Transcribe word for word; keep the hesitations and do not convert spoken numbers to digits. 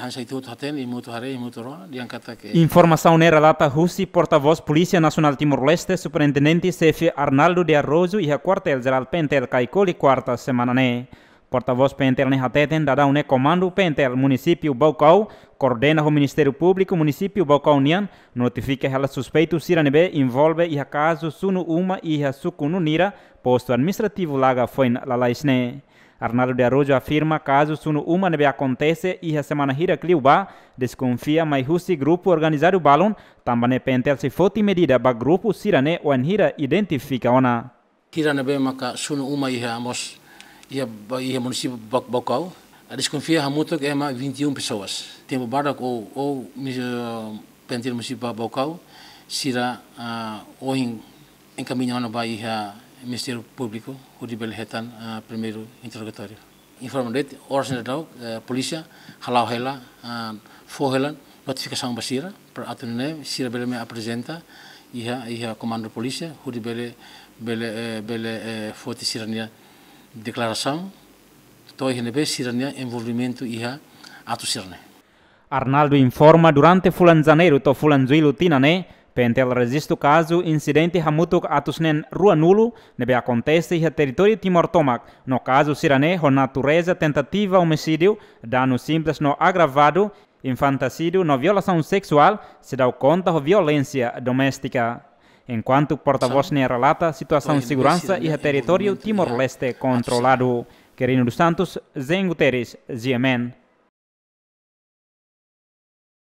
Sai tutu hatene, iha mutu haree, iha mutu rona, dehan katak ke. Informasaun ne'e relata husi portavós Polísia Nasionál Timor-Leste, Superintendente Xefe Arnaldo de Araújo, iha Kuartél Jerál P N T L Caicoli, kuarta semana ne'e. Portavós P N T L ne'e hateten, daudaun ne'e Komandu P N T L Munisípiu Baucau koordena ho Ministériu Públiku Munisípiu Baucau nian, notifika hela suspeitu sira ne'ebé envolve iha kazu sunu uma iha suku Nunira, postu administrativu Laga Foin lalais ne'e. Arnaldo de Araújo afirma kazu sunu uma ne'ebé akontese iha semana hirak liubá, deskonfia mai husi grupu organizadu balun, tanba ne'e P N T L sei foti medida ba grupu sira-ne'e wainhira identifika ona. Hira ne'ebé maka sunu uma iha mós, iha ba-, iha munisípiu Ba-, Baucau, a deskonfia hamutuk ema vinte e um pessoas. Tempu badak ou, ou, mis-, eh, P N T L munisípiu Ba-, Baucau, sira, ah, ohin enkamiña ona ba iha Ministériu Públiku, hodi bele hetan, ah, primeiru interrogatóriu. Informa de'it, oras ne'e daudaun, eh, polísia hala'o hela, ah, fó hela notifikasaun ba sira, para atu nune'e sira bele mai aprezenta iha, iha komandu polísia, hodi bele, bele, eh, bele, eh, foti sira-nia deklarasaun, to'o iha ne'ebé sira-nia envolvimentu iha atu sira-ne'e. Arnaldo informa, durante fulan Janeiru to'o fulan Jullu tinan ne'e, P N T L rejistu kazu insidente hamutuk atus neen ruanulu ne'ebé akontese iha territóriu Timor tomak, no kazu sira-ne'e ho natureza tentativa omisídiu, danu simples no agravadu, infantisídiu no violasaun seksuál, seidauk konta ho violénsia doméstika. Enkuantu portavós ne'e relata, situasaun seguransa iha territóriu Timor-Leste kontroladu. Quirino dos Santos, Zen Guterres, G M N.